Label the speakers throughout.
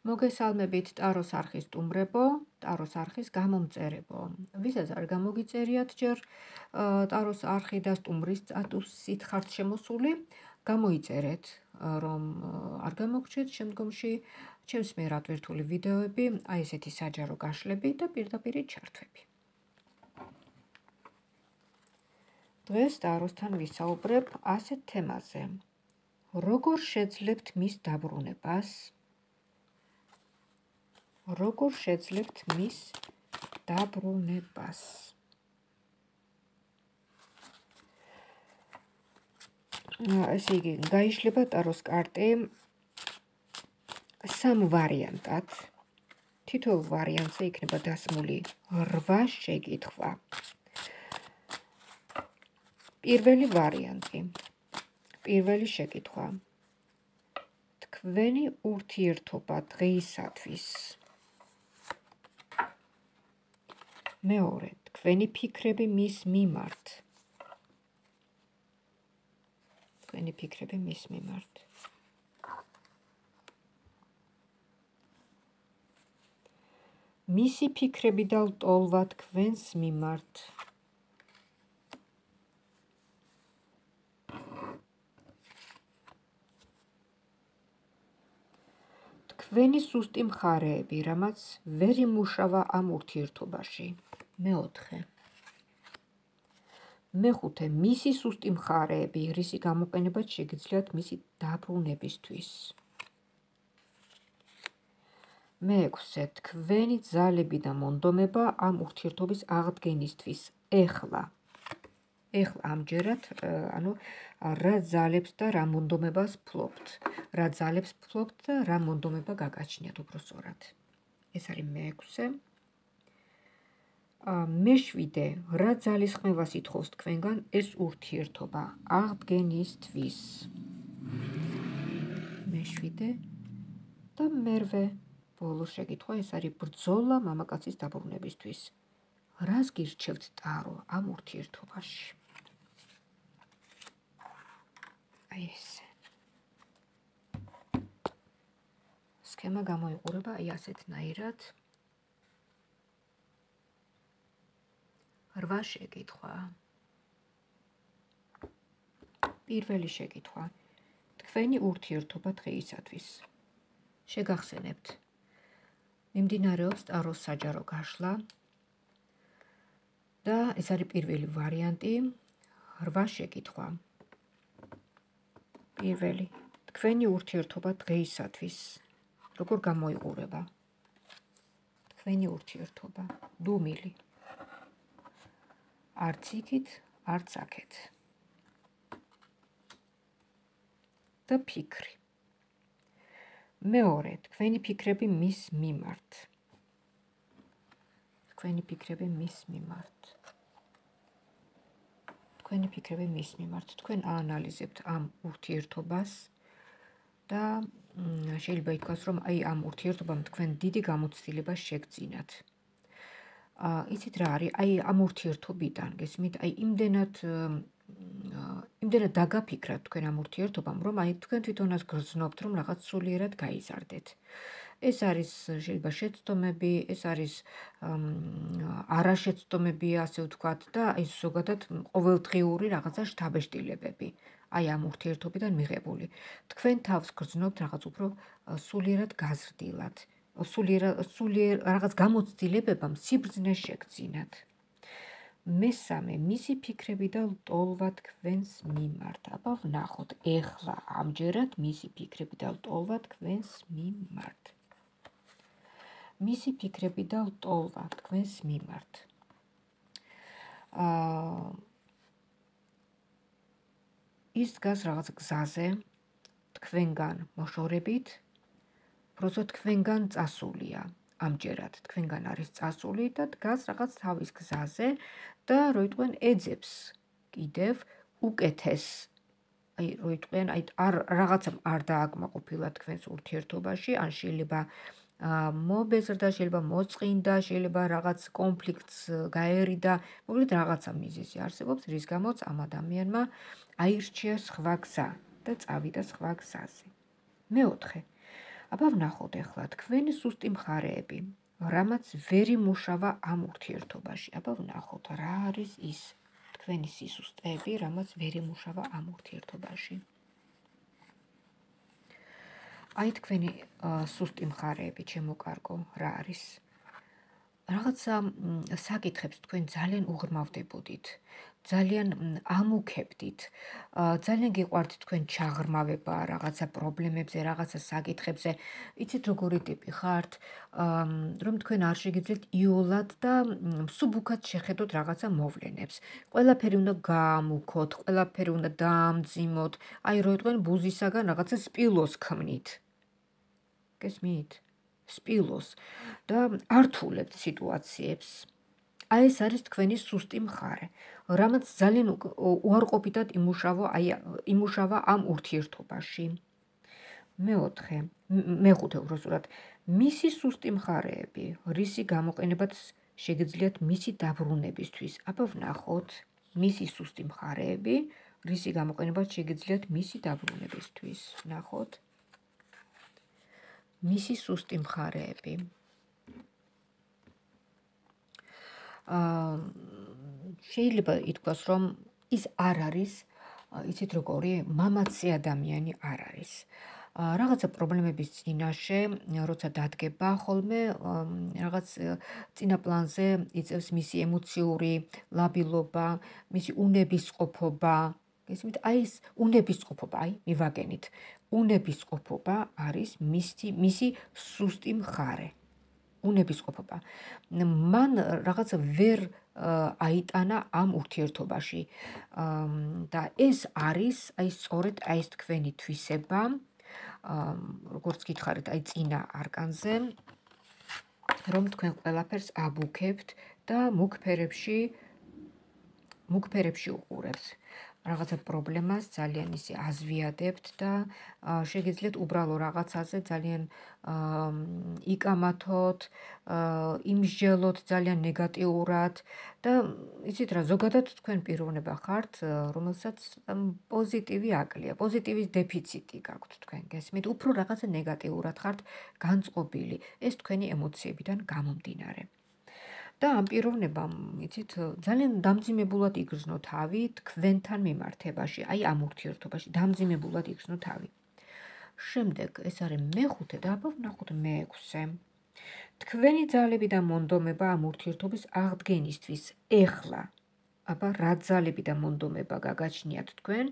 Speaker 1: მოგესალმებით ტაროს არხის სტუმრებო, ტაროს არხის გამომწერებო. ვისაც არ გამოგიწერიათ ჯერ ტაროს არხი და სტუმრის სტატუსით ხართ შემოსული, გამოიწერეთ, რომ არ გამოგჩეთ შემდგომში ჩემს მიერ ატვირთული ვიდეოები, აი ესეთი საჯარო გაშლები და პირდაპირ ჩართვები. დღეს ტაროსთან ვისაუბრებ ასეთ თემაზე. როგორ შეძლებთ მის დაბრუნებას? როგორ შეძლებთ მის დაბრუნებას? ესე იგი, გაიშლება ტაროს კარტი სამ ვარიანტად. თითოეულ ვარიანტზე იქნება დასმული 8 შეკითხვა. პირველი ვარიანტი. პირველი შეკითხვა. თქვენი ურთიერთობა დღეისათვის. მეორე, თქვენი ფიქრები მის მიმართ. თქვენი ფიქრები მის მიმართ. მისი ფიქრები და ლტოლვა თქვენს მიმართ. თქვენი სუსტი მხარეები, რამაც ვერ იმუშავა ამ ურთიერთობაში. მეოთხე. მეხუთე, მისი სუსტი მხარეები, რისი გამოყენებაც შეგიძლიათ მისი დაბრუნებისთვის. მეექვსე, თქვენი ძალები და მონდომება ამ ურთიერთობის აღდგენისთვის. ეხლა ამჯერად, რა ძალებს და რა მონდომებას ფლობთ. რა ძალებს ფლობთ და რა მონდომება გაგაჩნიათ უბრალოდ. ეს არის მეექვსე. მეშვიდე, რა ძალისხმევას ითხოვს თქვენგან ეს ურთიერთობა აღდგენისთვის. მეშვიდე და მერვე ბოლო შეკითხვა, ეს არის ბრძოლა მამაკაცის დაბრუნებისთვის. რას გირჩევთ ტარო ამ ურთიერთობაში? აი ესე. სქემა გამოიყურება აი ასეთნაირად. 8 შეკითხვა. პირველი შეკითხვა. თქვენი ურთიერთობა დღეისათვის. შეგახსენებთ. მიმდინარეობს ტაროს საჯარო გაშლა და ეს არის პირველი ვარიანტი. 8 შეკითხვა. პირველი. თქვენი ურთიერთობა დღეისათვის. როგორ გამოიყურება? თქვენი ურთიერთობა. დუმილი. არც იქით, არც აქეთ. და ფიქრი. მეორე, თქვენი ფიქრები მის მიმართ. თქვენი ფიქრები მის მიმართ. თქვენი ფიქრები მის მიმართ. თქვენ აანალიზებთ ამ ურთიერთობას და შეიძლება ითქვას, რომ აი ამ ურთიერთობამ თქვენ დიდი გამოცდილება შეგძინათ. იცით რა არის? აი ამ ურთიერთობიდან გესმით, აი იმდენად დაგაფიქრათ თქვენ ამ ურთიერთობამ, რომ აი თქვენ თვითონაც გრძნობთ, რომ რაღაც სულიერად გაიზარდეთ. ეს არის შეიძლება შეცდომები, ეს არის არაშეცდომები, ასე ვთქვათ, და აი ზოგადად ყოველდღიური რაღაცა შთაბეჭდილებები. აი ამ ურთიერთობიდან მიღებული. თქვენ თავს გრძნობთ რაღაც უფრო სულიერად გაზრდილად. სულიერ რაღაც გამოცდილებებამ სიბრძნე შეგძინათ. მესამე, მისი ფიქრები და ლტოლვა თქვენს მიმართ. აბა ვნახოთ, ეხლა ამჯერად მისი ფიქრები და ლტოლვა თქვენს მიმართ. მისი ფიქრები და ლტოლვა თქვენს მიმართ. ის დგას რაღაც გზაზე, თქვენგან მოშორებით, უბრალოდ თქვენგან წასულია. ამჯერად თქვენგან არის წასული და დგას რაღაც თავის გზაზე და როიტყვენ ეძებს კიდევ უკეთეს. აი როიტყვენ აი რაღაცამ არ დააკმაყოფილა თქვენს ურთიერთობაში, ან შეიძლება მობეზრდა, შეიძლება მოწყინდა, შეიძლება რაღაც კონფლიქტს გაერიდა, მოკლედ რაღაცა მიზეზი არსებობს, რის გამოც ამ ადამიანმა აირჩია სხვა გზა და წავიდა სხვა გზაზე. მეოთხე, აბა ვნახოთ ახლა თქვენი სუსტი მხარეები, რამაც ვერ იმუშავა ამ ურთიერთობაში. აბა ვნახოთ რა არის ის თქვენი სისუსტეები, რამაც ვერ იმუშავა ამ ურთიერთობაში. აი თქვენი სუსტი მხარეები, ჩემო კარგო, რა არის? რაღაცა საკითხებს თქვენ ძალიან უღრმავდებოდით, ძალიან ამუქებდით, ძალიან გიყვართ თქვენ ჩაღრმავება რაღაცა პრობლემებზე, რაღაცა საკითხებზე. იცით როგორი ტიპი ხართ, რომ თქვენ არ შეგიძლიათ იოლად და მსუბუქად შეხედოთ რაღაცა მოვლენებს. ყველაფერი უნდა გაამუქოთ, ყველაფერი უნდა დაამძიმოთ, აი რო თქვენ ბუზისაგან რაღაცა სპილოს ქმნით. გესმით? სპილოს და ართულებთ სიტუაციებს. აი ეს არის თქვენი სუსტი მხარე, რამაც ძალიან უარყოფითად იმუშავა ამ ურთიერთობაში. მეხუთე უბრალოდ მისი სუსტი მხარეები, რისი გამოყენებაც შეგიძლიათ მისი დაბრუნებისთვის. აბა ვნახოთ მისი სუსტი მხარეები, რისი გამოყენებაც შეგიძლიათ მისი დაბრუნებისთვის. ვნახოთ მისი სუსტი მხარეები. შეიძლება ითქვას, რომ ის არ არის, იცით როგორი, მამაცი ადამიანი არ არის. რაღაცა პრობლემების წინაშე, როცა დადგება ხოლმე, რაღაც წინა პლანზე იწევს მისი ემოციური ლაბილობა, მისი უნებისყოფობა. გესმით? აი ეს უნებისყოფობა, აი მივაგენით. უნებისყოფობა არის მისი სუსტი მხარე. უნებისყოფობა. მან რაღაცა ვერ აიტანა ამ ურთიერთობაში და ეს არის აი სწორედ აი ეს თქვენი თვისება, როგორც გითხარით, აი წინა არკანზე, რომ თქვენ ყველაფერს აბუქებთ და მუქ ფერებში უყურებთ. რაღაცა პრობლემას ძალიან ისე აზვიადებთ და შეგიძლიათ უბრალო რაღაცაზე ძალიან იკამათოთ, იმსჯელოთ ძალიან ნეგატიურად და იცით რა, ზოგადად თქვენ პიროვნება ხართ, რომელსაც პოზიტივი აკლია, პოზიტივის დეფიციტი გაქვთ თქვენ, გესმით? უფრო რაღაცა ნეგატიურად ხართ განწყობილი, ეს თქვენი ემოციებიდან გამომდინარე. და ამ პიროვნებამ, იცით, ძალიან დამძიმებულად იგრძნო თავი თქვენთან მიმართებაში, აი ამ ურთიერთობაში, დამძიმებულად იგრძნო თავი. შემდეგ ეს არის მეხუთე და აბა ვნახოთ მეექვსე. თქვენი ძალები და მონდომება ამ ურთიერთობის აღდგენისთვის ეხლა. აბა რა ძალები და მონდომება გაგაჩნიათ თქვენ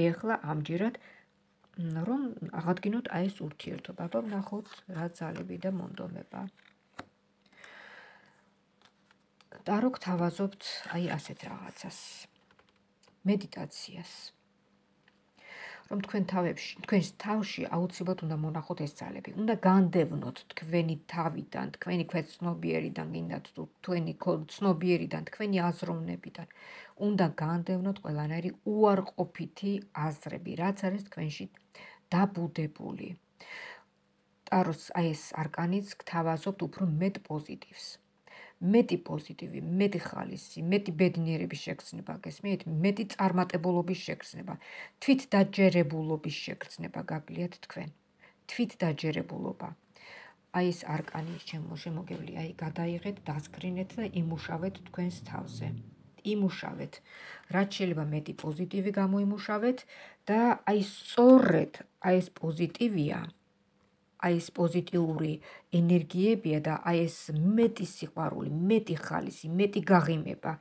Speaker 1: ეხლა ამჯერად, რომ აღადგინოთ აი ეს ურთიერთობა. აბა ვნახოთ რა ძალები და მონდომება. ტარო გთავაზობთ აი ასეთ რაღაცას. მედიტაციას. რომ თქვენს თავში აუცილებლად უნდა მონახოთ ეს ძალები. უნდა განდევნოთ თქვენი თავიდან, თქვენი ქვეცნობიერიდან, გინდათ თუ თქვენი ცნობიერიდან, თქვენი აზროვნებიდან. უნდა განდევნოთ ყველანაირი უარყოფითი აზრები, რაც არის თქვენში დაბუდებული. ტაროს აი ეს არკანიც გთავაზობთ უფრო მეტ პოზიტივს. მეტი პოზიტივი, მეტი ხალისი, მეტი ბედნიერების შეგრძნება, გესმით? მეტი წარმატებულობის შეგრძნება, თვითდაჯერებულობის შეგრძნება გაგლიათ თქვენ. თვითდაჯერებულობა. აი ეს არკანი შემოგევლია, აი გადაიღეთ, დასკრინეთ და იმუშავეთ თქვენს თავზე. იმუშავეთ, რაც შეიძლება მეტი პოზიტივი გამოიმუშავეთ და აი სწორედ აი ეს პოზიტივია, აი ეს პოზიტიური ენერგიებია და აი ეს მეტი სიყვარული, მეტი ხალისი, მეტი გაღიმება,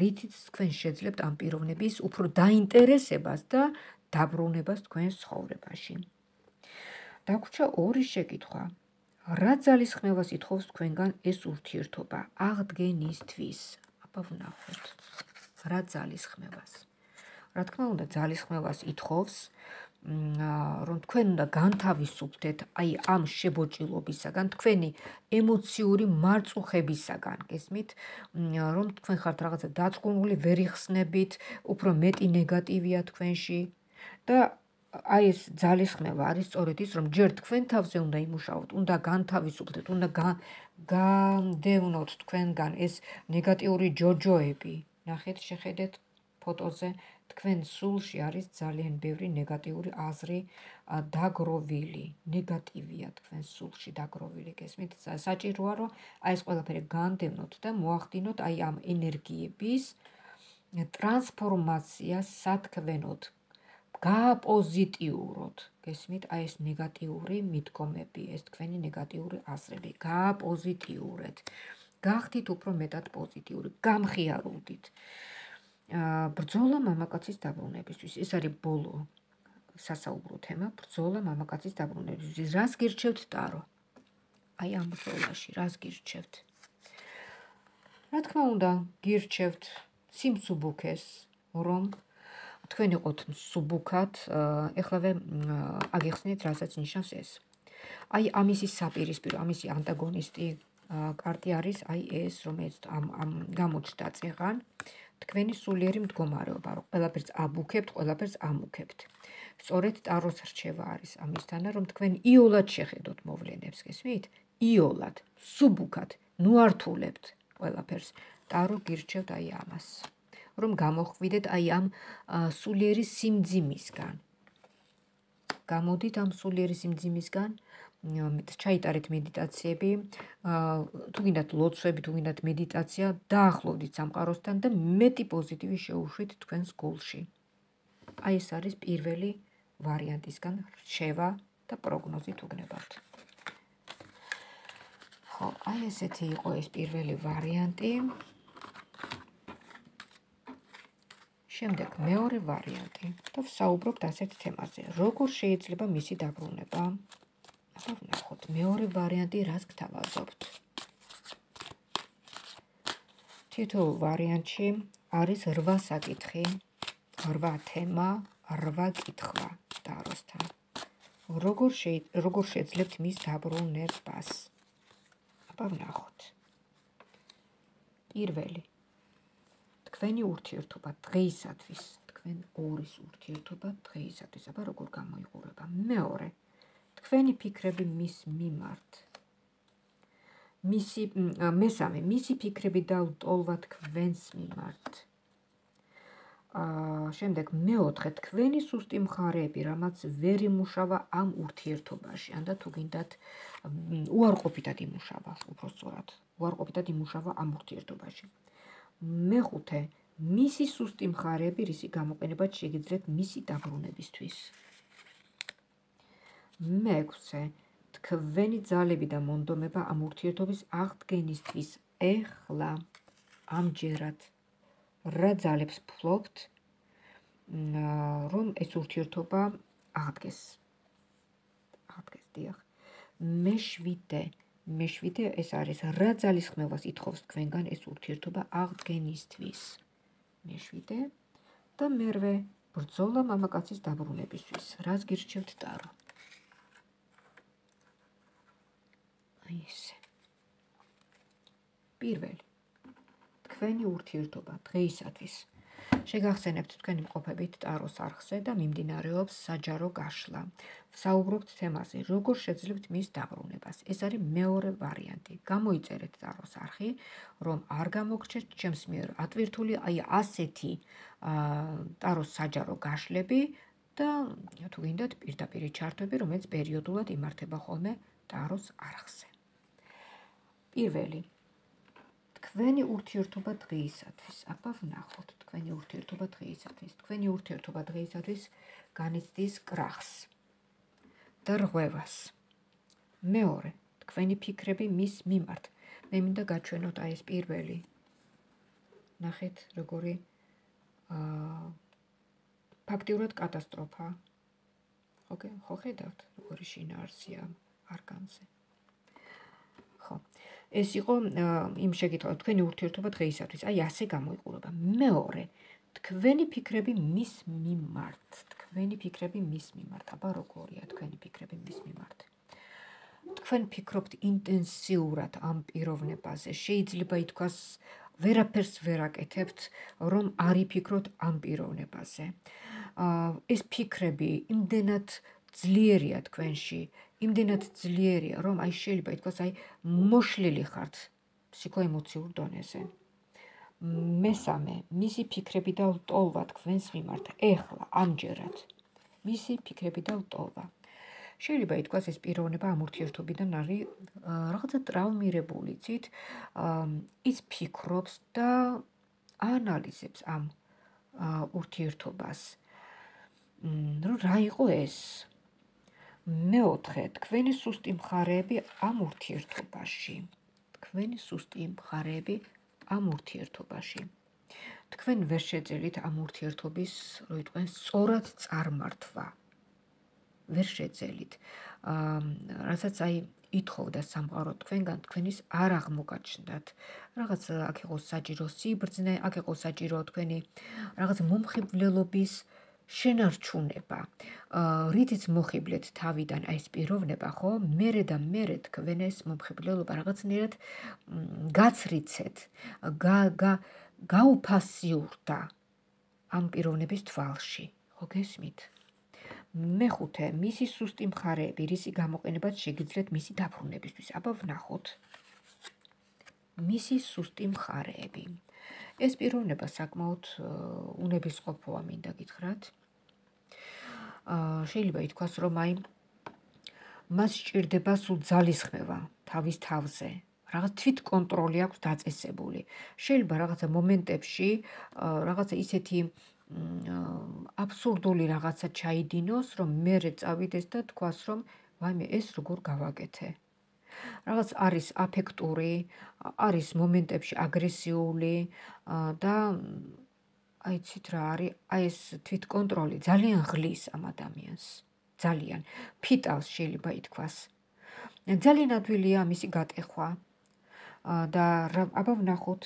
Speaker 1: რითიც თქვენ შეძლებთ ამ პიროვნების უფრო დაინტერესებას და დაბრუნებას თქვენს ცხოვრებაში. დაგვრჩა ორი შეკითხვა. რა ძალისხმევას ითხოვს თქვენგან ეს ურთიერთობა აღდგენისთვის? აბა ვნახოთ. რა ძალისხმევას? რა თქმა უნდა, ძალისხმევას ითხოვს, რომ თქვენ უნდა განთავისუფლდეთ აი ამ შებოჭილობისაგან, თქვენი ემოციური მარწუხებისაგან, გესმით? რომ თქვენ ხართ რაღაცა დაწყუნული, ვერ იხსნებით, უფრო მეტი ნეგატივია თქვენში და აი ეს ძალისხმევა არის სწორედ ის, რომ ჯერ თქვენ თავზე უნდა იმუშაოთ, უნდა განთავისუფლდეთ, უნდა განდევნოთ თქვენგან ეს ნეგატიური ჯოჯოები. ნახეთ, შეხედეთ ფოტოზე, თქვენ სულში არის ძალიან ბევრი ნეგატიური აზრი დაგროვილი, ნეგატივია თქვენ სულში დაგროვილი, გესმით? საჭიროა რომ აი ეს ყველაფერი განდევნოთ და მოახდინოთ აი ამ ენერგიების ტრანსფორმაცია სათქმენოდ, გააპოზიტიუროთ, გესმით? აი ეს ნეგატიური მიდგომები, ეს თქვენი ნეგატიური აზრები, გააპოზიტიურეთ. გახდით უფრო მეტად პოზიტიური, გამხიარულდით. ბრძოლა მამაკაცის დაბრუნებისთვის. ეს არის ბოლო სასაუბრო თემა, ბრძოლა მამაკაცის დაბრუნებისთვის. რას გირჩევთ ტარო? აი ამ ბრძოლაში რას გირჩევთ? რა თქმა უნდა, გირჩევთ სიმსუბუქეს, რომ თქვენ იყოთ მსუბუქად, ეხლავე აგიხსნით, რასაც ნიშნავს ეს. აი ამისი საპირისპირო, ამისი ანტაგონისტი კარტი არის აი ეს, რომელიც ამ გამოჩნდა წეღან, თქვენი სულიერი მდგომარეობა, რომ ყველაფერს აბუქებთ, ყველაფერს ამუქებთ. სწორედ ტაროს რჩევა არის ამისთანა, რომ თქვენ იოლად შეხედოთ მოვლენებს, გესმით? იოლად, სუბუქად, ნუართულებთ ყველაფერს. ტარო გირჩევთ აი ამას, რომ გამოხვიდეთ აი ამ სულიერი სიმძიმისგან. გამოდით ამ სულიერი სიმძიმისგან, ჩაიტარეთ მედიტაციები, თუ გინდათ ლოცვები, თუ გინდათ მედიტაცია, დაახლოვდით სამყაროსთან და მეტი პოზიტივი შეუშვით თქვენს გულში. აი ეს არის პირველი ვარიანტისგან რჩევა და პროგნოზი თუ გნებავთ. ხო, აი ესეთი იყო ეს პირველი ვარიანტი. შემდეგ მეორე ვარიანტი და ვსაუბრობთ ასეთ თემაზე. როგორ შეიძლება მისი დაბრუნება? აბა ვნახოთ, მეორე ვარიანტი რას გთავაზობთ? თითოეულ ვარიანტში არის 8 საკითხი, 8 თემა, 8 კითხვა ტაროსთან. როგორ შეძლებთ მის დაბრუნებას? აბა ვნახოთ. პირველი თქვენი ურთიერთობა დღეისათვის, თქვენ ორის ურთიერთობა დღეისათვის, აბა როგორ გამოიყურება? მეორე, თქვენი ფიქრები მის მიმართ. მესამე, მისი ფიქრები და ტოლვა თქვენს მიმართ. შემდეგ მეოთხე, თქვენი სუსტი მხარეები, რამაც ვერ იმუშავა ამ ურთიერთობაში, ან და თუ გინდათ უარყოფითად იმუშავა, უпростоრად, უარყოფითად იმუშავა ამ ურთიერთობაში. მეხუთე, მისი სუსტი მხარეები, რისი გამოყენებაც შეგიძლიათ მისი დაბრუნებისთვის. მეექვსე, თქვენი ძალები და მონდომება ამ ურთიერთობის აღდგენისთვის ეხლა, ამჯერად, რა ძალებს ფლობთ, რომ ეს ურთიერთობა აღდგეს. დიახ. მეშვიდე ეს არის რა ძალისხმევას ითხოვს თქვენგან ეს ურთიერთობა აღდგენისთვის. მეშვიდე და მერვე ბრძოლა მამაკაცის დაბრუნებისთვის. რას გირჩევთ ტარო? აი ესე. პირველი, თქვენი ურთიერთობა დღეისათვის. შეგახსენებთ თქვენი მყოფებით ტაროს არხზე და მიმდინარეობს საჯარო გაშლა. ვსაუბრობთ თემაზე, როგორ შეძლებთ მის დაბრუნებას. ეს არის მეორე ვარიანტი. გამოიწერეთ ტაროს არხი, რომ არ გამოგრჩეთ ჩემს მიერ ატვირთული აი ასეთი ტაროს საჯარო გაშლები და თუ გინდათ პირდაპირი ჩართვები, რომელიც პერიოდულად იმართება ხოლმე ტაროს არხზე. პირველი, თქვენი ურთიერთობა დღეისათვის. აბა ვნახოთ, თქვენი ურთიერთობა დღეისათვის. თქვენი ურთიერთობა დღეისათვის განიცდის კრახს და რღვევას. მეორე, თქვენი ფიქრები მის მიმართ. მე მინდა გაჩვენოთ აი ეს პირველი. ნახეთ, როგორი ფაქტიურად კატასტროფა. ხო ხედავთ, როგორი შინაარსია არკანზე. ხო. ეს იყო იმ შეკითხვა, თქვენი ურთიერთობა დღეისათვის, აი ასე გამოიყურება. მეორე, თქვენი ფიქრები მის მიმართ. აბა როგორია თქვენი ფიქრები მის მიმართ? თქვენ ფიქრობთ ინტენსიურად ამ პიროვნებაზე, შეიძლება ითქვას ვერაფერს ვერ აკეთებთ, რომ არ იფიქროთ ამ პიროვნებაზე. ეს ფიქრები იმდენად ძლიერია თქვენში, იმდენად ძლიერია, რომ აი შეიძლება ითქვას აი მოშლილი ხართ ფსიქოემოციურ დონეზე. მესამე, მისი ფიქრები და ლტოლვა თქვენს მიმართ, ეხლა, ამჯერად. მისი ფიქრები და ლტოლვა. შეიძლება ითქვას, ეს პიროვნება ამ ურთიერთობიდან არის რაღაცა ტრავმირებული, იცით? ის ფიქრობს და ანალიზებს ამ ურთიერთობას. რომ რა იყო ეს? მეოთხე, თქვენი სუსტი მხარეები ამ ურთიერთობაში. თქვენი სუსტი მხარეები ამ ურთიერთობაში. თქვენ ვერ შეძელით ამ ურთიერთობის, რო იტყვენ, სწორად წარმართვა. ვერ შეძელით. რასაც აი ითხოვდა სამყარო თქვენგან, თქვენის არ აღმოგაჩნდათ. რაღაც აქ იყო საჭირო სიბრძნე, აქ იყო საჭირო თქვენი რაღაც მომხიბვლელობის შენარჩუნება. რითიც მოხიბლეთ თავიდან აი ეს პიროვნება, ხო? მერე და მერე თქვენ ეს მომხიბვლელობა რაღაცნაირად გაცრიცეთ, გაუფასიურდა ამ პიროვნების თვალში. ხო გესმით? მეხუთე, მისი სუსტი მხარეები, რისი გამოყენებაც შეგიძლიათ მისი დაბრუნებისთვის. აბა ვნახოთ. მისი სუსტი მხარეები. ეს პიროვნება საკმაოდ უნებისყოფოა, მინდა გითხრათ. შეიძლება ითქვას, რომ აი მას სჭირდება სულ ძალისხმევა თავის თავზე. რაღაც თვითკონტროლი აქვს დაწესებული. შეიძლება რაღაცა მომენტებში რაღაცა ისეთი აბსურდული რაღაცა ჩაიდინოს, რომ მერე წავიდეს და თქვას, რომ ვაიმე, ეს როგორ გავაკეთე. რაღაც არის აფექტური, არის მომენტებში აგრესიული და აი იცით რა არის, აი ეს თვითკონტროლი ძალიან ღლის ამ ადამიანს. ძალიან ფიტავს შეიძლება ითქვას. ძალიან ადვილია მისი გატეხვა და აბა ვნახოთ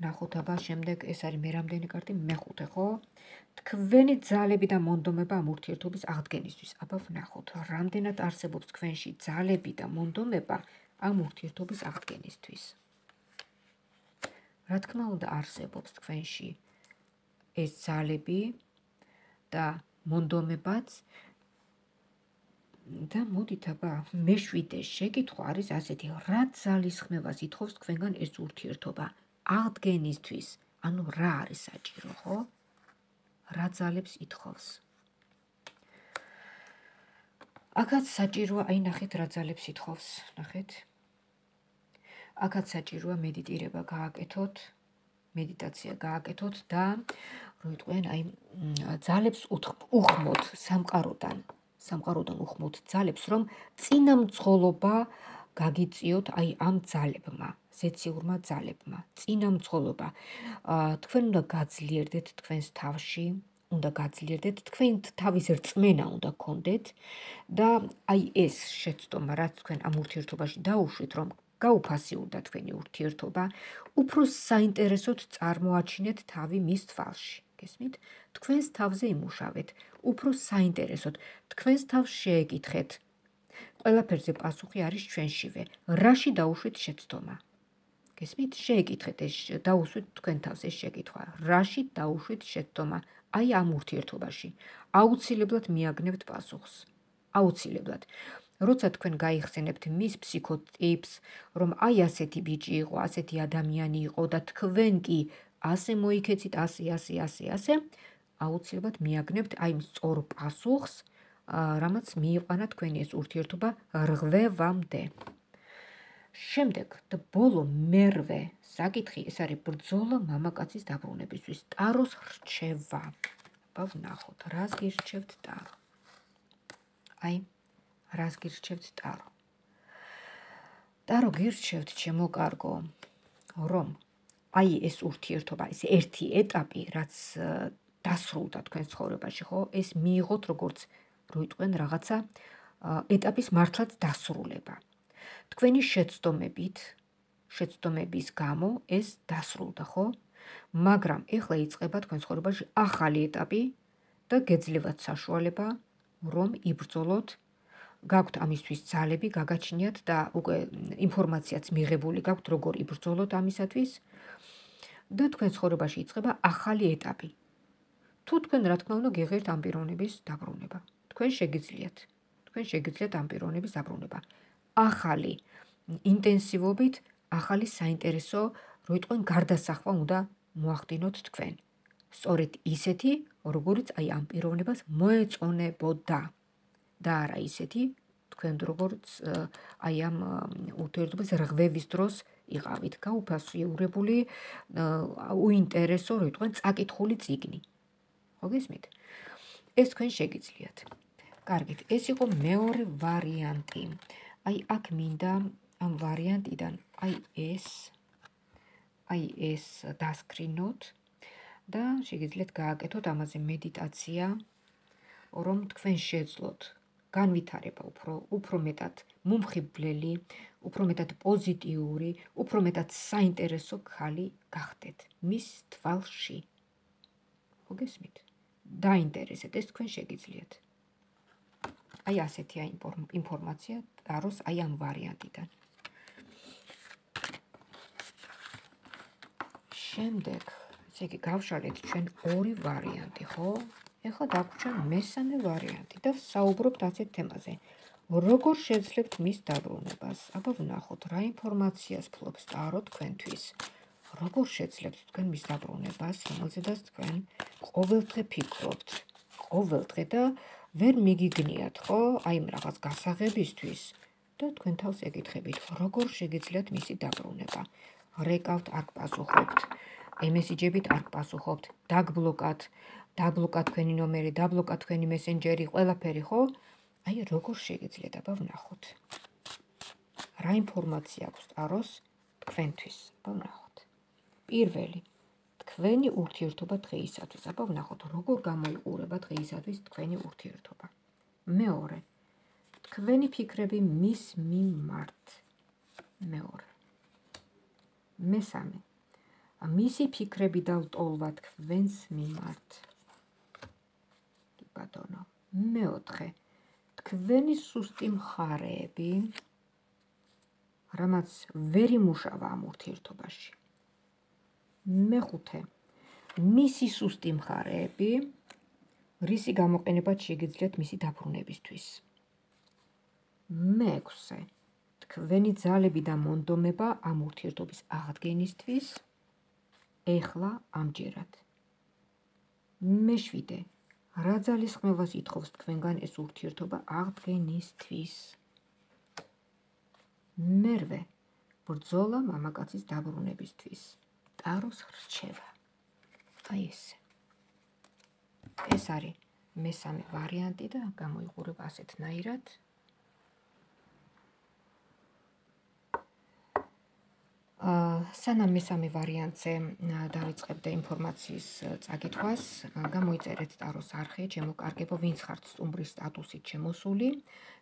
Speaker 1: აბა შემდეგ ეს არის მე რამდენი კარტი, მეხუთე, ხო? თქვენი ძალები და მონდომება ამ ურთიერთობის აღდგენისთვის. აბა ვნახოთ, რამდენად არსებობს თქვენში ძალები და მონდომება ამ ურთიერთობის აღდგენისთვის. რა თქმა უნდა არსებობს თქვენში ეს ძალები და მონდომებაც და მოდით აბა მეშვიდე შეკითხვა არის ასეთი, რა ძალისხმევას ითხოვს თქვენგან ეს ურთიერთობა აღდგენისთვის, ანუ რა არის საჭირო, ხო? რა ძალებს ითხოვს? აქაც საჭიროა, აი ნახეთ რა ძალებს ითხოვს, ნახეთ. აქაც საჭიროა მედიტირება გააკეთოთ, მედიტაცია გააკეთოთ და რო იტყვიან, აი ძალებს უხმოთ სამყაროდან უხმოთ ძალებს, რომ წინამძღოლობა გაგიწიოთ აი ამ ძალებმა, ზეციურმა ძალებმა, წინამძღოლობა. თქვენ უნდა გაძლიერდეთ თქვენს თავში, უნდა გაძლიერდეთ, თქვენ თავის რწმენა უნდა გქონდეთ და აი ეს შეცდომა, რაც თქვენ ამ ურთიერთობაში დაუშვით, რომ გაუფასიურდა თქვენი ურთიერთობა, უფრო საინტერესოდ წარმოაჩინეთ თავი მის თვალში. გესმით? თქვენს თავზე იმუშავეთ, უფრო საინტერესოდ, თქვენს თავს შეეკითხეთ. ყველაფერზე პასუხი არის ჩვენშივე. რაში დაუშვით შეცდომა? გესმით? შეეკითხეთ ეს, დაუსვით თქვენ თავს ეს შეკითხვა. რაში დაუშვით შეცდომა? აი ამ ურთიერთობაში. აუცილებლად მიაგნებთ პასუხს. აუცილებლად. როცა თქვენ გაიხსენებთ მის ფსიქოტიპს, რომ აი ასეთი ბიჭი იყო, ასეთი ადამიანი იყო და თქვენ კი ასე მოიქეცით, ასე, აუცილებლად მიაგნებთ აი სწორ პასუხს, რამაც მიიყვანა თქვენი ეს ურთიერთობა რღვევამდე. შემდეგ და ბოლო მერვე საკითხი, ეს არის ბრძოლა მამაკაცის დაბრუნებისთვის, ტაროს რჩევა. აბა ვნახოთ, რას გირჩევთ ტარო? აი რას გირჩევთ ტარო? ტარო გირჩევთ, ჩემო კარგო, რომ აი ეს ურთიერთობა, ეს ერთი ეტაპი, რაც დასრულდა თქვენ ცხოვრებაში, ხო? ეს მიიღოთ როგორც რო იტყვენ რაღაცა ეტაპის მართლაც დასრულება. თქვენი შეცდომების გამო ეს დასრულდა, ხო? მაგრამ ეხლა იწყება თქვენ ცხოვრებაში ახალი ეტაპი და გეძლევათ საშუალება, რომ იბრძოლოთ, გაქვთ ამისთვის ძალები, გაგაჩნიათ და უკვე ინფორმაციაც მიღებული გაქვთ, როგორ იბრძოლოთ ამისათვის და თქვენ ცხოვრებაში იწყება ახალი ეტაპი. თუ თქვენ რა თქმა უნდა გიღებთ ამ პიროვნების დაბრუნება, თქვენ შეგიძლიათ ამ პიროვნების დაბრუნება. ახალი ინტენსივობით, ახალი საინტერესო რომ იტყვენ გარდასახვა უნდა მოახდინოთ თქვენ. სწორედ ისეთი, როგორიც აი ამ პიროვნებას მოეწონებოდა და არა ისეთი, თქვენ როგორც აი ამ ურთიერთობის რღვევის დროს იყავით, გაუფასიურებული, უინტერესო, რომ იტყვენ წაკითხული წიგნი. ხო გესმით? ეს თქვენ შეგიძლიათ. კარგით, ეს იყო მეორე ვარიანტი. აი აქ მინდა ამ ვარიანტიდან აი ეს დასკრინოთ და შეგიძლიათ გააკეთოთ ამაზე მედიტაცია, რომ თქვენ შეძლოთ განვითარება უფრო მეტად მომხიბვლელი, უფრო მეტად პოზიტიური, უფრო მეტად საინტერესო ქალი გახდეთ მის თვალში. ხო გესმით? დაინტერესეთ, ეს თქვენ შეგიძლიათ. აი ასეთია ინფორმაცია ტაროს აი ამ ვარიანტიდან. შემდეგ, ესე იგი გავშალეთ ჩვენ ორი ვარიანტი, ხო? ეხლა დაგვრჩა მესამე ვარიანტი და საუბრობთ ასეთ თემაზე. როგორ შეძლებთ მის დაბრუნებას? აბა ვნახოთ, რა ინფორმაციას ფლობს ტარო თქვენთვის. როგორ შეძლებთ თქვენ მის დაბრუნებას, რომელზედაც თქვენ ყოველდღე ფიქრობთ. ყოველდღე და ვერ მიგიგნიათ, ხო? აი იმ რაღაც გასაღებისთვის და თქვენ თავს ეკითხებით, როგორ შეგიძლიათ მისი დაბრუნება. რეკავთ, არ გპასუხობთ. მესიჯებით არ გპასუხობთ. დაბლოკად თქვენი ნომერი, დაბლოკად თქვენი მესენჯერი, ყველაფერი, ხო? აი როგორ შეგიძლიათ, აბა ვნახოთ. რა ინფორმაცია აქვს ტაროს თქვენთვის? აბა ვნახოთ. პირველი, თქვენი ურთიერთობა დღეისათვის. აბა ვნახოთ, როგორ გამოიყურება დღეისათვის თქვენი ურთიერთობა. მეორე, თქვენი ფიქრები მის მიმართ. მეორე. მესამე, მისი ფიქრები და ლტოლვა თქვენს მიმართ. კი ბატონო. მეოთხე, თქვენი სუსტი მხარეები, რამაც ვერ იმუშავა ამ ურთიერთობაში. მეხუთე, მისი სუსტი მხარეები, რისი გამოყენებაც შეგიძლიათ მისი დაბრუნებისთვის. მეექვსე, თქვენი ძალები და მონდომება ამ ურთიერთობის აღდგენისთვის ეხლა ამჯერად. მეშვიდე, რა ძალისხმევას ითხოვს თქვენგან ეს ურთიერთობა აღდგენისთვის. მერვე, ბრძოლა მამაკაცის დაბრუნებისთვის. ტაროს რჩევა. აი ესე. ეს არის მესამე ვარიანტი და გამოიყურება ასეთნაირად. სანამ მესამე ვარიანტზე დავიწყებდე ინფორმაციის წაკითხვას, გამოიწერეთ ტაროს არხი, ჩემო კარგებო, ვინც ხართ სტუმრის სტატუსით შემოსული,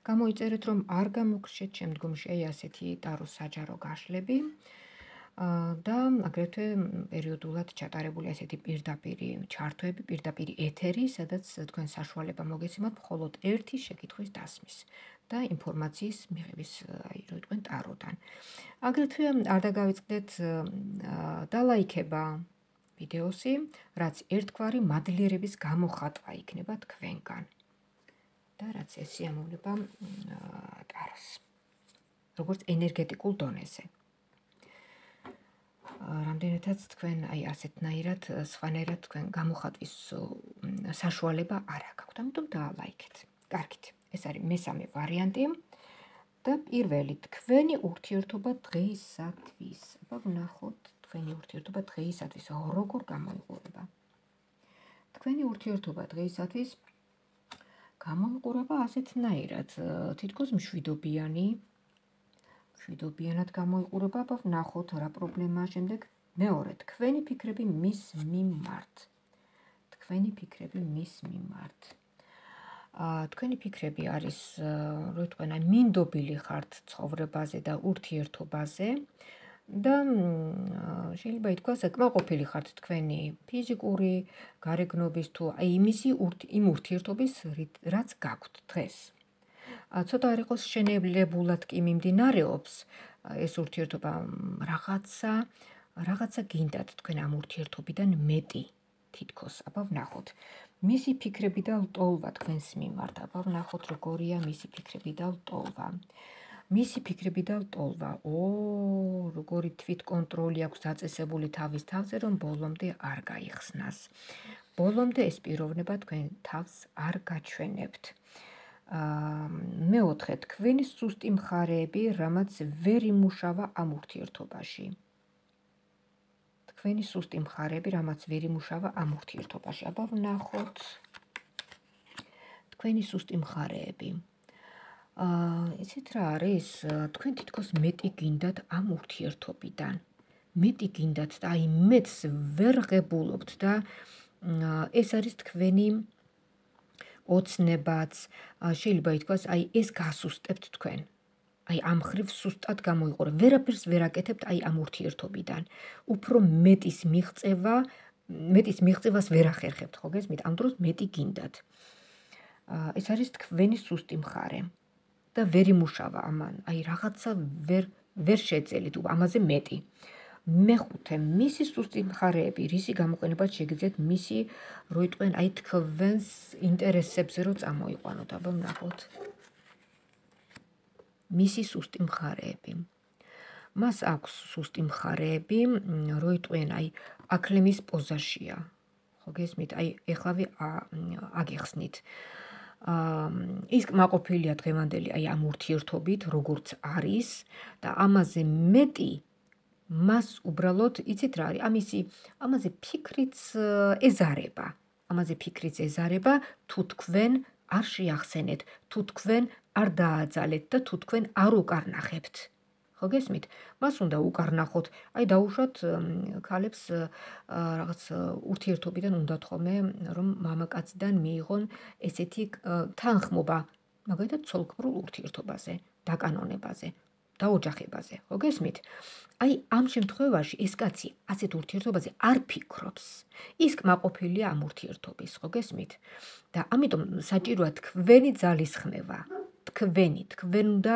Speaker 1: გამოიწერეთ, რომ არ გამოგრჩეთ შემდგომში აი ასეთი ტაროს საჯარო გაშლები და აგრეთვე პერიოდულად ჩატარებული ასეთი პირდაპირი ჩართვები, პირდაპირი ეთერი, სადაც თქვენ საშუალება მოგეცემათ მხოლოდ ერთი შეკითხვის დასმის და ინფორმაციის მიღების, აი რო იტყვენ ტაროდან. აგრეთვე არ დაგავიწყდეთ დალაიქება ვიდეოსი, რაც ერთგვარი მადლიერების გამოხატვა იქნება თქვენგან და რაც ესიამოვნება ტაროს, როგორც ენერგეტიკულ დონეზე. რამდენადაც თქვენ აი ასეთნაირად, სხვანაირად თქვენ გამოხატვის საშუალება არ აქვს, ამიტომ დაალაიქეთ. კარგით, ეს არის მესამე ვარიანტი და პირველი, თქვენი ურთიერთობა დღეისათვის. აბა ვნახოთ, თქვენი ურთიერთობა დღეისათვის როგორ გამოიყურება. თქვენი ურთიერთობა დღეისათვის გამოიყურება ასეთნაირად, თითქოს მშვიდობიანად გამოიყურება, აბა ვნახოთ რა პრობლემაა შემდეგ. მეორე, თქვენი ფიქრები მის მიმართ. თქვენი ფიქრები მის მიმართ. თქვენი ფიქრები არის, რო იტყვენ, მინდობილი ხართ ცხოვრებაზე და ურთიერთობაზე და შეიძლება ითქვას, კმაყოფილი ხართ თქვენი ფიზიკური გარეგნობის თუ აი იმ ურთიერთობის, რაც გაქვთ დღეს. ცოტა არ იყოს შენებლებულად კი მიმდინარეობს ეს ურთიერთობა, რაღაცა გინდათ თქვენ ამ ურთიერთობიდან მეტი თითქოს. აბა ვნახოთ. მისი ფიქრები და ლტოლვა თქვენს მიმართ. აბა ვნახოთ, როგორია მისი ფიქრები და ლტოლვა. მისი ფიქრები და ლტოლვა. როგორი თვითკონტროლი აქვს დაწესებული თავის თავზე, რომ ბოლომდე არ გაიხსნას. ბოლომდე ეს პიროვნება თქვენ თავს არ გაჩვენებთ. მეოთხე, თქვენი სუსტი მხარეები, რამაც ვერ იმუშავა ამ ურთიერთობაში. თქვენი სუსტი მხარეები, რამაც ვერ იმუშავა ამ ურთიერთობაში. აბა ვნახოთ თქვენი სუსტი მხარეები. იცით რა არის? თქვენ თითქოს მეტი გინდათ ამ ურთიერთობიდან. მეტი გინდათ და აი მეტს ვერ ღებულობთ და ეს არის თქვენი ოცნებაც, შეიძლება ითქვას, აი ეს გასუსტებთ თქვენ. აი ამ ხრივ სუსტად გამოიყურებთ. ვერაფერს ვერ აკეთებთ აი ამ ურთიერთობიდან. უფრო მეტის მიღწევას ვერ ახერხებთ, ხო გესმით? ამ დროს მეტი გინდათ. ეს არის თქვენი სუსტი მხარე და ვერ იმუშავა ამან. აი რაღაცა ვერ შეძელით ამაზე მეტი. მეხუთე, მისი სუსტი მხარეები, რისი გამოყენებაც შეგიძლიათ მისი რო იტყვენ აი თქვენს ინტერესებზე რო წამოიყვანოთ. აბა ვნახოთ. მისი სუსტი მხარეები. მას აქვს სუსტი მხარეები, რო იტყვენ აი აქლემის პოზაშია. ხო გესმით? აი ეხლავე აგიხსნით. ის კმაყოფილია დღევანდელი აი ამ ურთიერთობით, როგორც არის და ამაზე მეტი მას უბრალოდ იცით რა არის? ამაზე ფიქრიც ეზარება. ამაზე ფიქრიც ეზარება, თუ თქვენ არ შეახსენეთ, თუ თქვენ არ დააძალეთ და თუ თქვენ არ უკარნახებთ. ხო გესმით? მას უნდა უკარნახოთ. აი დაუშვათ ქალებს რაღაც ურთიერთობიდან უნდათ ხოლმე რომ მამაკაციდან მიიღონ ესეთი თანხმობა, მაგალითად ცოლქმრულ ურთიერთობაზე, დაკანონებაზე, დაოჯახებაზე, ხო გესმით? აი ამ შემთხვევაში ეს კაცი ასეთ ურთიერთობაზე არ ფიქრობს. ის კმაყოფილია ამ ურთიერთობის, ხო გესმით? და ამიტომ საჭიროა თქვენი ძალისხმევა. თქვენ უნდა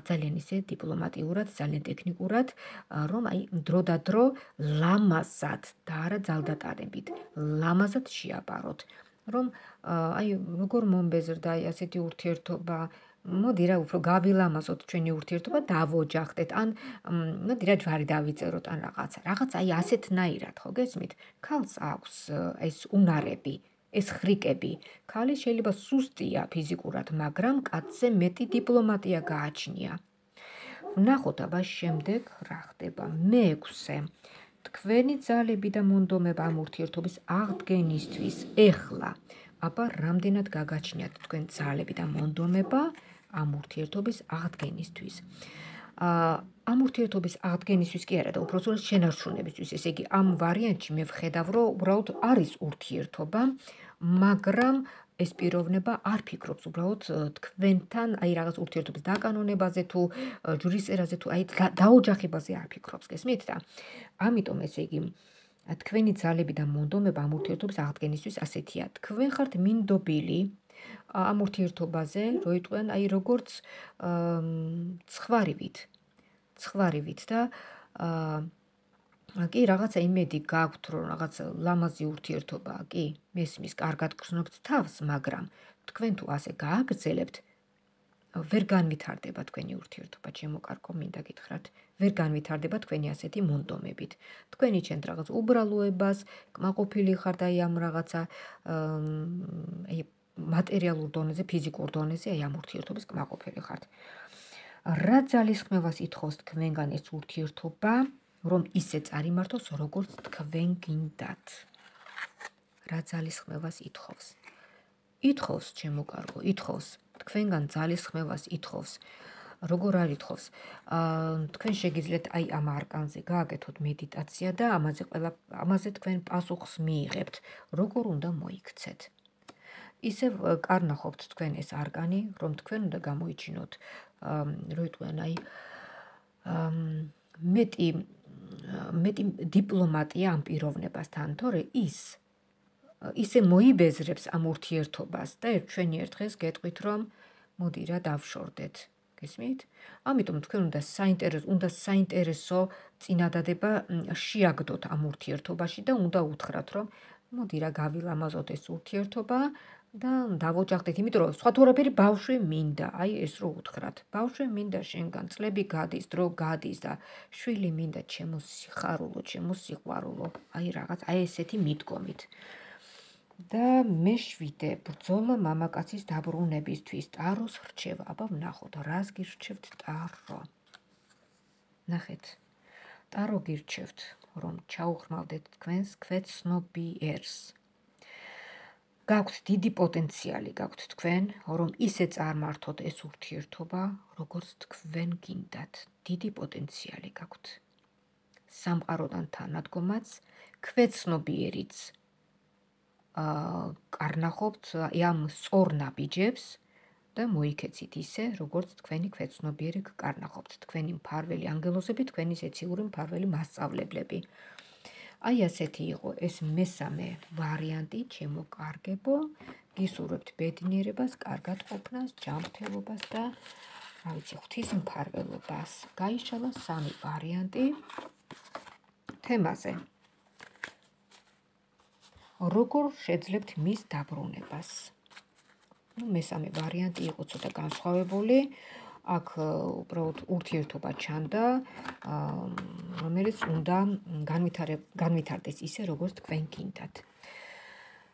Speaker 1: ძალიან ისე დიპლომატიურად, ძალიან ტექნიკურად, რომ აი დრო და დრო ლამაზად და არა ძალდატანებით, ლამაზად შეაბაროთ. რომ აი როგორ მომბეზრდა აი ასეთი ურთიერთობა, მოდი რა უფრო გავილამაზოთ ჩვენი ურთიერთობა, დავოჯახდეთ, ან მოდი რა ჯვარი დავიწეროთ, ან რაღაც აი ასეთნაირად, ხო გესმით? ქალს აქვს ეს უნარები, ეს ხრიკები. ქალი შეიძლება სუსტია ფიზიკურად, მაგრამ კაცზე მეტი დიპლომატია გააჩნია. ვნახოთ აბა შემდეგ რა ხდება. მეექვსე, თქვენი ძალები და მონდომება ამ ურთიერთობის აღდგენისთვის ეხლა. აბა რამდენად გაგაჩნიათ თქვენ ძალები და მონდომება ამ ურთიერთობის აღდგენისთვის. ამ ურთიერთობის აღდგენისთვის კი არა და უпроსტოდ შენარჩუნებისთვის. ესე იგი ამ ვარიანტში მე ვხედავ, რომ უბრალოდ არის ურთიერთობა, მაგრამ ეს პიროვნება არ ფიქრობს უბრალოდ თქვენთან აი რაღაც ურთიერთობის დაკანონებაზე თუ ჯვრისწერაზე თუ აი დაოჯახებაზე არ ფიქრობს, გესმით და ამიტომ ესე იგი თქვენი ძალები და მონდომება ამ ურთიერთობის აღდგენისთვის ასეთია. თქვენ ხართ მინდობილი ამ ურთიერთობაზე, რო იტყვიან აი როგორც ცხვარივით და კი რაღაცა იმედი გაქვთ, რომ რაღაც ლამაზი ურთიერთობაა, კი, მესმის, კარგად გრძნობთ თავს, მაგრამ თქვენ თუ ასე გააგრძელებთ, ვერ განვითარდება თქვენი ურთიერთობა, ჩემო კარგო, მინდა გითხრათ, ვერ განვითარდება თქვენი ასეთი მონდომებით. თქვენ იჩენთ რაღაც უბრალოებას, კმაყოფილი ხართ აი ამ რაღაცა მატერიალურ დონეზე, ფიზიკურ დონეზე, აი ამ ურთიერთობის კმაყოფილი ხართ. რა ძალისხმევას ითხოვს თქვენგან ეს ურთიერთობა, რომ ისე წარიმართოს, როგორც თქვენ გინდათ. რა ძალისხმევას ითხოვს? ითხოვს, ჩემო კარგო, ითხოვს. თქვენგან ძალისხმევას ითხოვს. როგორ არ ითხოვს? თქვენ შეგიძლიათ აი ამ არკანზე გააკეთოთ მედიტაცია და ამაზე თქვენ პასუხს მიიღებთ. როგორ უნდა მოიქცეთ? ისევ კარნახობთ თქვენ ეს არკანი, რომ თქვენ უნდა გამოიჩინოთ, რო იტყვიან აი მეტი დიპლომატია ამ პიროვნებასთან, თორე ისე მოიბეზრებს ამ ურთიერთობას და ჩვენი ერთ დღეს გეტყვით, რომ მოდი რა დავშორდეთ. გესმით? ამიტომ თქვენ უნდა საინტერესო წინადადება შეაგდოთ ამ ურთიერთობაში და უნდა უთხრათ, რომ მოდი რა გავილამაზოთ ეს ურთიერთობა, და დავოჯახდით, იმიტომ რომ სხვა თურაფერი ბავშვი მინდა, აი ეს რო უთხრათ. ბავშვი მინდა შენგან, წლები გადის, დრო გადის და შვილი მინდა ჩემო სიხარულო, ჩემო სიყვარულო. აი რაღაც, აი ესეთი მიდგომით. და მე შვიდე ბრძოლა მამაკაცის დაბრუნებისთვის ტაროს რჩევა. აბა ვნახოთ, რას გირჩევთ ტარო. ნახეთ. ტარო გირჩევთ, რომ ჩაუხმავდეთ თქვენს ქვეცნობიერს. გაქვთ დიდი პოტენციალი გაქვთ თქვენ, რომ ისე წარმართოთ ეს ურთიერთობა, როგორც თქვენ გინდათ. დიდი პოტენციალი გაქვთ. სამყაროდან თანადგომაც, ქვეცნობიერიც კარნახობთ ამ სწორ ნაბიჯებს და მოიქეცით ისე, როგორც თქვენი ქვეცნობიერი გკარნახობთ. თქვენი მფარველი ანგელოზები, თქვენი ზეციური მფარველი მასწავლებლები. აი ასეთი იყო ეს მესამე ვარიანტი, ჩემო კარგებო. გისურვებთ ბედნიერებას, კარგად ყოფნას, ჯანმრთელობას და რა ვიცი, ღვთისმფარველობას. გაიშალა 3 ვარიანტი თემაზე. როგორ შეძლებთ მის დაბრუნებას? მესამე ვარიანტი იყო ცოტა განსხვავებული. აქ უბრალოდ ურთიერთობა ჩანდა, რომელიც უნდა განვითარდეს ისე, როგორც თქვენ გინდათ.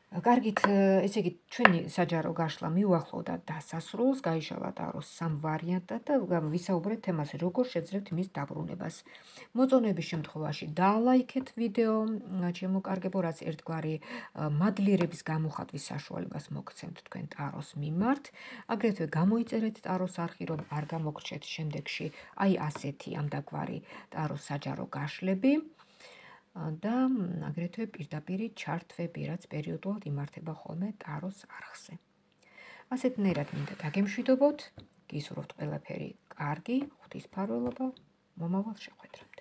Speaker 1: კარგით, ესე იგი, ჩვენი საჯარო გაშლა მიუახლოვდა დასასრულს, გაიშალა ტაროს 3 ვარიანტად და ვისაუბრეთ თემაზე, როგორ შეძლებთ მის დაბრუნებას. მოწონების შემთხვევაში დალაიქეთ ვიდეო, ჩემო კარგებო, რაც ერთგვარი მადლიერების გამოხატვის საშუალებას მოგცემთ თქვენ ტაროს მიმართ. აგრეთვე გამოიწერეთ ტაროს არხი, რომ არ გამოგრჩეთ შემდეგში აი ასეთი ამდაგვარი ტაროს საჯარო გაშლები. და აგრეთვე პირდაპირ ჩართვები, რაც პერიოდულად იმართება ხოლმე ტაროს არხზე. ასეთნაირად მინდა დაგემშვიდობოთ, გისურვებთ ყველაფერი კარგი, ღვთისმფარველობა, მომავალ შეხვედრამდე.